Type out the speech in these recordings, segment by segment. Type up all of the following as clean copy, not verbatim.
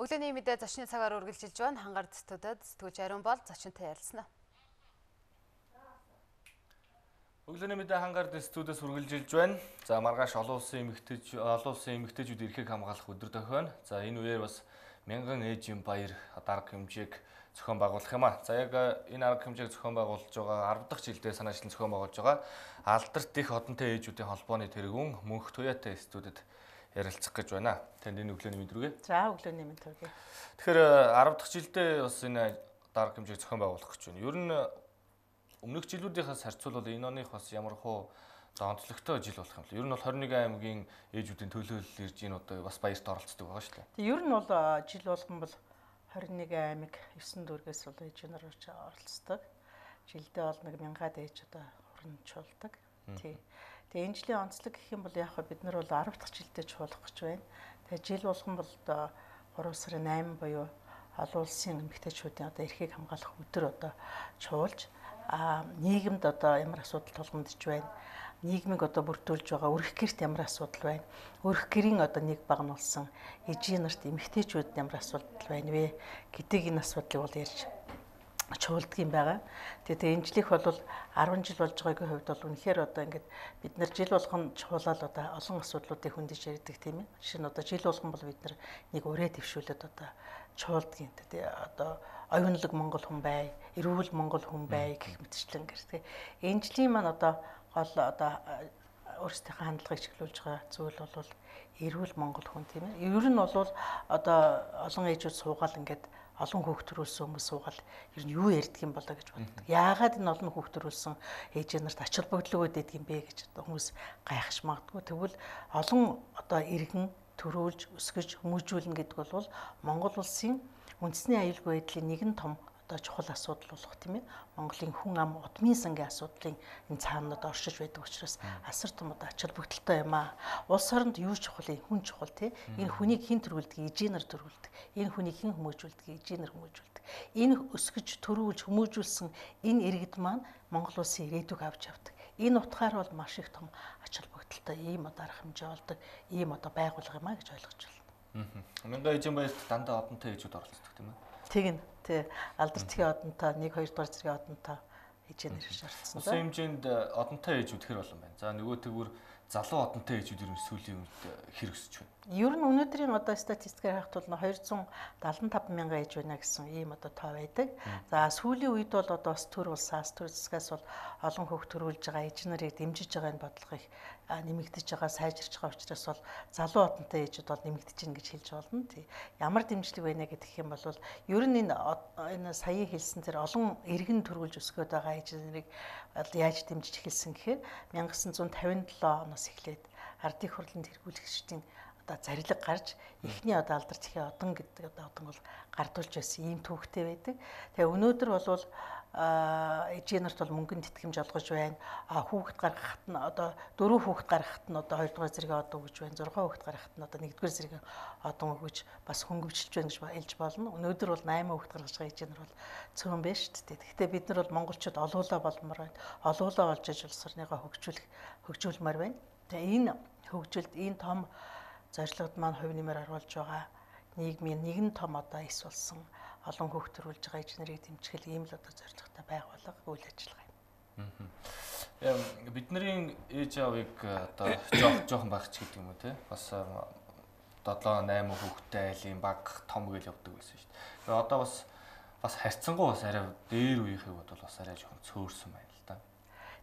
Өглөөний мэдээ зочны цагаар үргэлжилж байна. Хангаар студид сэтгүүлч Ариун бол зочинтой ярилцсан. Өглөөний мэдээ хангаар студиэс үргэлжилж байна. За маргааш олон улсын эмэгтэйчүүд эрхийг хамгаалах өдөр тохино. За энэ үеэр бас мянган ээжийн баяр дарга хэмжээг зохион байгуулах юм а. За яг энэ арга хэмжээг зохион байгуулж байгаа 10 дахь жилдээ санаачлан зохион байгуулж байгаа Алдарт их одонтой ээжүүдийн холбооны тэргүүн Мөнх Туяатай студид ярилцах гэж байна. Танд энэ өглөөний мэнд хүргэе. За өглөөний мэнд хүргэе. Тэгэхээр 10 дахь жилдээ бас энэ дарга хэмжээг зохион байгуулах гэж байна. Ер нь өмнөх жилүүдийнхээс харьцуулбал энэ оных бас ямар хуу онцлогтой жил болох юм бэ? Ер нь бол 21 аймгийн ээжүүдийн төлөөлөл ирж энэ одоо бас баярт оролцдог байгаа шүү дээ. Тэг ер нь бол жил болгон бол 21 аймаг 9 дүүргээс бол ээжээр оролцдог. Жилдээ бол 1000-аад ээж одоо хуримжуулдаг. Тий. Тэгээ энэ жилийн онцлог гэх юм бол яг бид нар бол 10 дахь жилдээ чуулгах гэж байна. Тэгээ жил болгон бол одоо 3 сарын 8 буюу олон улсын эмэгтэйчүүдийн одоо эрхийг хамгаалах өдөр одоо чуулж нийгэмд одоо ямар асуудал тулгамдж байна. Нийгмийг одоо бүрдүүлж байгаа өрх гэрт ямар асуудал байна. Өрх гэрийн одоо нэг багнуулсан ээжийн нарт эмэгтэйчүүд ямар асуудал байна вэ гэдэг энэ асуудлыг бол ярьж чуулдаг юм байгаа. Тэгээ энэ жилийнх бол 10 жил болж байгаагийн хувьд бол үнэхээр одоо ингээд бид нар жил болгон чуулаад одоо олон асуудлуудыг хөндөж ярьдаг тийм ээ. Жишээ нь одоо жил болгон бол бид нар нэг ураа дэвшүүлээд одоо чуулдгийн тэгээ одоо оюунлаг Монгол хүн бай, эрүүл Монгол хүн бай гэх мэтчлэн гэр. Энэ жилийн маань одоо гол одоо өөрсдийнхөө хандлагыг чиглүүлж байгаа зүйл бол эрүүл Монгол хүн тийм ээ. Ер нь бол одоо олон ээжүүд суугаал ингээд олон хүүхд төрүүлсэн хүмүүс суугаал ер нь юу ярьдаг юм болоо гэж боддог. Яагаад энэ олон хүүхд төрүүлсэн ээжээ нарт ач холбогдол өгöd байдаг юм бэ гэж хүмүүс гайхаж магадгүй. Тэгвэл олон одоо иргэн төрүүлж өсгөж хүмүүжүүлнэ гэдэг бол Монгол улсын үндэсний аюулгүй байдлын нэгэн том одоо чухал асуудал болох тийм ээ. Монголын хүн ам удмын сангийн асуудлын энэ цаанад оршиж байдаг учраас асар том одоо ач холбогдолтой юм аа. Улс оронд юу чухал, хүн чухал тий. Энэ хүнийг хэн төрүүлдэг, ээжээр төрүүлдэг. Энэ хүнийг хэн хүмүүжүүлдэг, ээжээр хүмүүжүүлдэг. Энэ өсгөж төрүүлж хүмүүжүүлсэн энэ иргэд маань Монгол улсын ирээдүйг авч явдаг. Энэ утгаар бол маш их том ач холбогдолтой ийм одоо арга хэмжээ болдог, ийм одоо байгуулга юм аа гэж ойлгож байна. Мянган ээжийн баярт дандаа одонтой ээжүүд оролцдог тийм ээ. Тэгнь тий Алдарт-ийн одонтой 1 2 дугаар зэргийн одонтой ээжээр ирж орцсон. Улсын хэмжээнд одонтой ээжүүд хэр болон байна. За нөгөө тэгвэр залуу одонтой ээжүүд ер нь сүүлийн үед хэр өсөж байна. Ер нь өнөөдрийн одоо статистикээр харахад бол 275 мянган ээж байна гэсэн ийм одоо тоо байдаг. За сүүлийн үед бол одоо бас төр улсаас төр засгаас бол олон хүүхд төрүүлж байгаа ээж нарыг дэмжиж байгаа энэ бодлогыг нэмэгдэж байгаа, сайжирч байгаа учраас бол залуу одонтой ээжүүд бол нэмэгдэж гин гэж хэлж болно. Тий. Ямар дэмжлэг байна гэх юм бол ер нь энэ саяын хэлсэн тэр олон иргэн төрүүлж өсгөөд байгаа ээж нарыг яаж дэмжиж эхэлсэн гэхээр 1957 оноос эхлээд ардын хурлын тэргүүлэгчдийн одоо зарилга гарч эхний одоо Алдарт-ийн одон гэдэг одоо одон бол гардуулж байсан ийм төвхтэй байдаг. Тэгээ өнөөдөр бол ээжийн нарт бол мөнгөнд итгэмж олгож байна. Хүүхэд гаргахад нь одоо 4 хүүхэд гаргахад нь одоо 2 дугаар зэргийн одон өгж байна. 6 хүүхэд гаргахад нь одоо 1 дугаар зэргийн одон өгж бас хөнгөвчлж байна гэж хэлж болно. Өнөөдөр бол 8 хүүхэд гаргаж байгаа ээжийн нар бол цөөн байна шүү дээ. Гэхдээ бид нар бол монголчууд олуулаа болмоор байна. Олуулаа олж иж улс орныгоо хөгжүүлмээр байна. Тэгээ энэ хөгжилд энэ том зорилгод маань хувь нэмэр оруулж байгаа нийгмийн нэгэн том одоо эс болсон олон хүүхд төрүүлж байгаа ээж нарыг дэмжих ийм л одоо зорилготой байгууллага үйл ажиллагаа юм. Бидний ээж аавыг одоо жоохон багч гэдэг юм уу те? Бас 7 8 хүүхэдтэй айлын баг том гэж явдаг байсан шүү дээ. Тэгээ одоо бас харьцангуй бас арай дээр үеийнхээ бол бас арай жоохон цөөрсөн байна л да.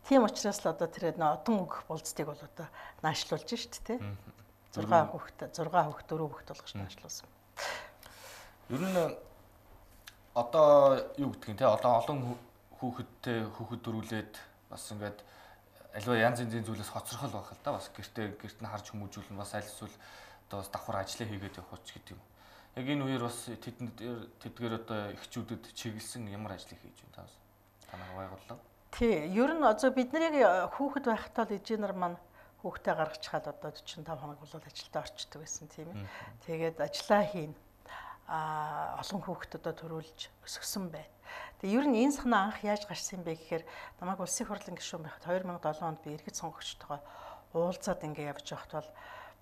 Тийм учраас л одоо тэр одон өгөх болцдыг бол одоо наашлуулж шүү дээ те. 6 хүүхэд 4 хүүхэд болгож наашлуулсан. Ер нь одоо юу гэдгийг те одоо олон хүүхэдтэй хүүхэд дөрүүлээд бас ингээд аливаа янз янзын зүйлээс хоцрохол байх л да. Бас гэрт нь харж хүмүүжүүлнэ бас аль эсвэл одоо бас давхар ажиллаа хийгээд явах ч гэдэг юм. Яг энэ үеэр бас тэдгээр одоо эхчүүдэд чиглэсэн ямар ажлыг хийж байна та бас танаа байгууллага. Тий, ер нь одоо бид нарыг хүүхэд байхдаа л ээжээ нар маань хүүхдээ гаргачихад одоо 45 хоног бол ажилдаа орчдөг байсан тийм ээ. Тэгээд ажиллаа хийн. Олон хүүхэд одоо төрүүлж өсгсөн байна. Тэгээ ер нь энэ санаа анх яаж гарсан бэ гэхээр намайг улсын хурлын гишүүн байхад 2007 онд би иргэд сонгогчтойгоо уулзаад ингэ явж байхад бол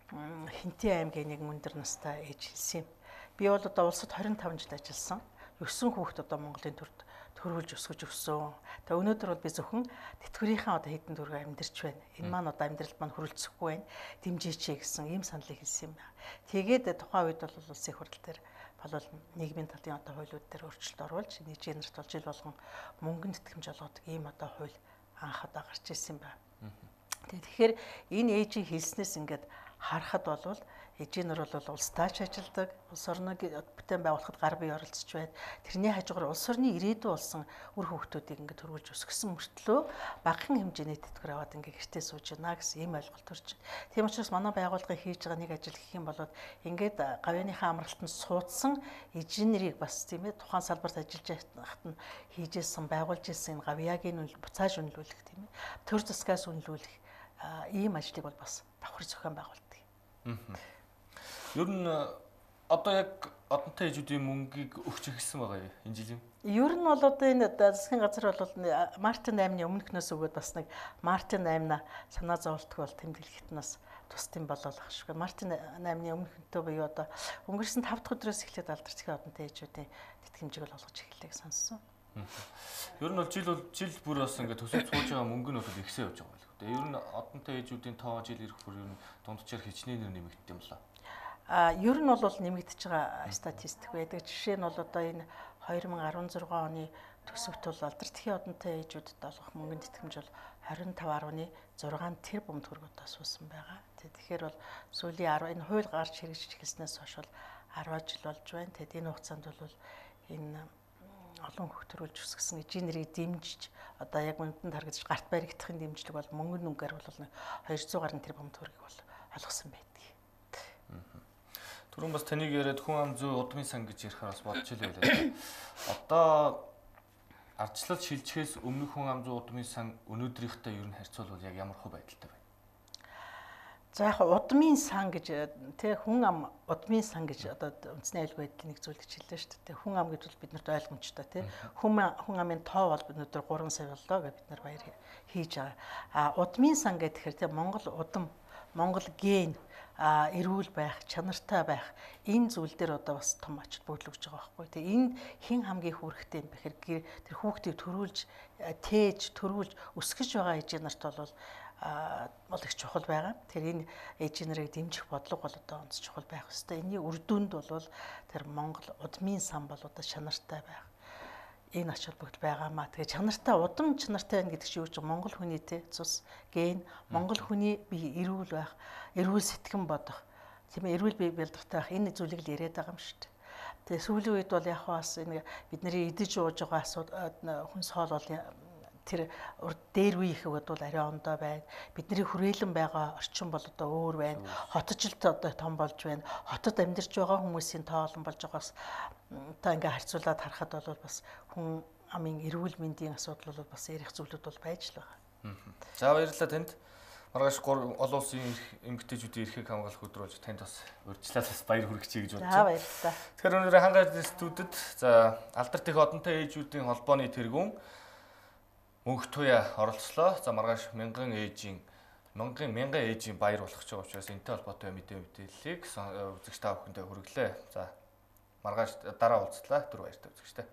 Хинтээ аймгийн нэг өндөр настай ээж хэлсэн юм. Би бол одоо улсад 25 жил ажилласан. 9 хүүхэд одоо Монголын төрд төрүүлж өсгөж өгсөн. Тэгээ өнөөдөр бол би зөвхөн тэтгэврийнхээ одоо хэдэн төгрөг амьдарч байна. Энэ маань одоо амьдралд маань хөрөлцөхгүй байна. Дэмжээч гэсэн ийм саналыг хэлсэн юм байна. Тэгээд тухайн үед бол улсын их хурал дээр болол нийгмийн талын одоо хуулиуд дээр өөрчлөлт оруулж нийгмийн нарт бол жил болгон мөнгөнд тэтгэмж олгодог ийм одоо хууль анх одоо гарч ирсэн юм байна. Тэгэхээр энэ ээжийн хэлснээс ингээд харахад бол эжийн нар бол улс таач ажилдаг, улс орныг бүтээн байгуулахад гар бие оролцож байна. Тэрний хажуугаар улс орны ирээдүй болсон үр хөвгтүүдийг ингээд төрүүлж өсгсөн мөртлөө багахан хэмжээний тэтгэвэр аваад ингээд гэртээ сууж байна гэсэн ийм ойлголт төрж байна. Тийм учраас манай байгууллагын хийж байгаа нэг ажил гэх юм бол ингээд гавьяаныхаа амралтанд суудсан эжийн нарыг бас тийм ээ тухайн салбарт ажиллаж байхад нь хийжсэн, байгуулж ирсэн энэ гавьяагийн буцааж үнэлүүлэх тийм ээ төр засгаас үнэлүүлэх ийм ажлыг бол бас давхар зохион байгуулдаг. Ер нь одоо яг одонтой ээжүүдийн мөнгийг өгч эхэлсэн байгаа юу энэ жилийн? Ер нь бол одоо энэ засгийн газар бол Мартин 8-ны өмнөхнөөс өгөөд бас нэг Мартин 8-на санаа зовлтгүй бол тэмдэглэхэд нас тусдсан болол ах шиг. Мартин 8-ны өмнөхөнтэй буюу одоо өнгөрсөн 5 дахь өдрөөс эхлээд алдарчгийн одонтой ээжүүдийн тэтгэмжийг бол олгож эхэллээ сонссон. Ер нь бол жил бүр бас ингээд төсөв цууж байгаа мөнгө нь бол ихсээ явж байгаа байлгүй. Тэгээ ер нь одонтой ээжүүдийн тоо жил ирэх бүр ер нь дунджаар хичнээн нэмэгддэг юм лээ. Ер нь бол нэмэгдэж байгаа статистик байдаг. Жишээ нь бол одоо энэ 2016 оны төсөвт бол алдарчгийн одонтой ээжүүдэд олгох мөнгөнд тэтгэмж бол 25.6 тэрбум төгрөг одоо суусан байгаа. Тэгэхээр бол сүүлийн энэ хууль гарч хэрэгжиж эхэлснээс хойш бол 10 жил болж байна. Тэгэд энэ хугацаанд бол энэ олон хүүхд төрүүлж өсгсөн эжийн нэрийг дэмжиж одоо яг мөндөнд харагдаж гарт баригдахын дэмжлэг бол мөнгөнд нүгээр бол 200 гаруй тэрбум төгрөгийг бол олгосон байдаг. Түрүүн бас таныг яриад хүн ам зүй удмын сан гэж ярихаар бас бодож илээ байлаа. Одоо ардчлал шилжихээс өмнөх хүн ам зүй удмын сан өнөөдрийнхтэй ер нь харьцуулбал яг ямар хөө байдалтай байна? За яг удмын сан гэж тэг хүн ам удмын сан гэж одоо үндэсний аюулгүй байдлын нэг зүйл гэж хэллээ шүү дээ. Хүн ам гэж бол биднэрт ойлгомжтой тий. Хүн амын тоо бол өнөөдөр 3 сая боллоо гэж бид нар баяр хийж байгаа. Удмын сан гэхээр тий Монгол удам, Монгол ген эрүүл байх, чанартай байх энэ зүйл дээр одоо бас том ач холбогдол өгч байгаа байхгүй. Тэгээ энд хэн хамгийн хүрэхтэй юм бэхээр тэр хүүхдийг төрүүлж, тээж, төрүүлж өсгөж байгаа ээжийн нарт бол их чухал байгаа. Тэр энэ ээжийн нарыг дэмжих бодлого бол одоо онц чухал байх ёстой. Энийн үр дүнд бол тэр Монгол удмын сан бол одоо чанартай байх. Энэ ач холбогдол байгаамаа. Тэгээ чанартай удам чанартай байна гэдэг чинь юу ч Монгол хүний цус ген Монгол хүний бие эрүүл байх, эрүүл сэтгэн бодох, тийм ээ эрүүл бие бэлдэртэй байх энэ зүйлийг л яриад байгаа юм шүү дээ. Тэгээ сүүлийн үед бол яг бас энэ бидний идэж ууж байгаа асуудал хүнс хоол бол тэр дээр үе их бол арай ондоо байна. Бидний хүрээлэн байгаа орчин бол одоо өөр байна. Хотожилт одоо том болж байна. Хотод амьдарч байгаа хүмүүсийн тоо олон болж байгаас одоо ингээ харьцуулаад харахад бол бас хүн амын эрүүл мэндийн асуудал бол бас ярих зүйлүүд бол байж л байгаа. За баярлалаа танд. Маргааш олон улсын эмэгтэйчүүдийн эрхийг хамгаалах өдөр болж танд бас урьдчилаад бас баяр хүргэчихье гэж бодож байна. За баярлалаа. Тэгэхээр өнөөдөр хангаалт студид за алдарт их одонтой ээжүүдийн холбооны тэргүүн мөнх туяа оролцлоо. За маргааш мянган ээжийн баяр болох ч байгаа учраас энэтэй холбоотой мэдээллийг үзэгч та бүхэндээ хүргэлээ. За маргааш дараа уулзлаа. Түр баяртай үзэгчтэй.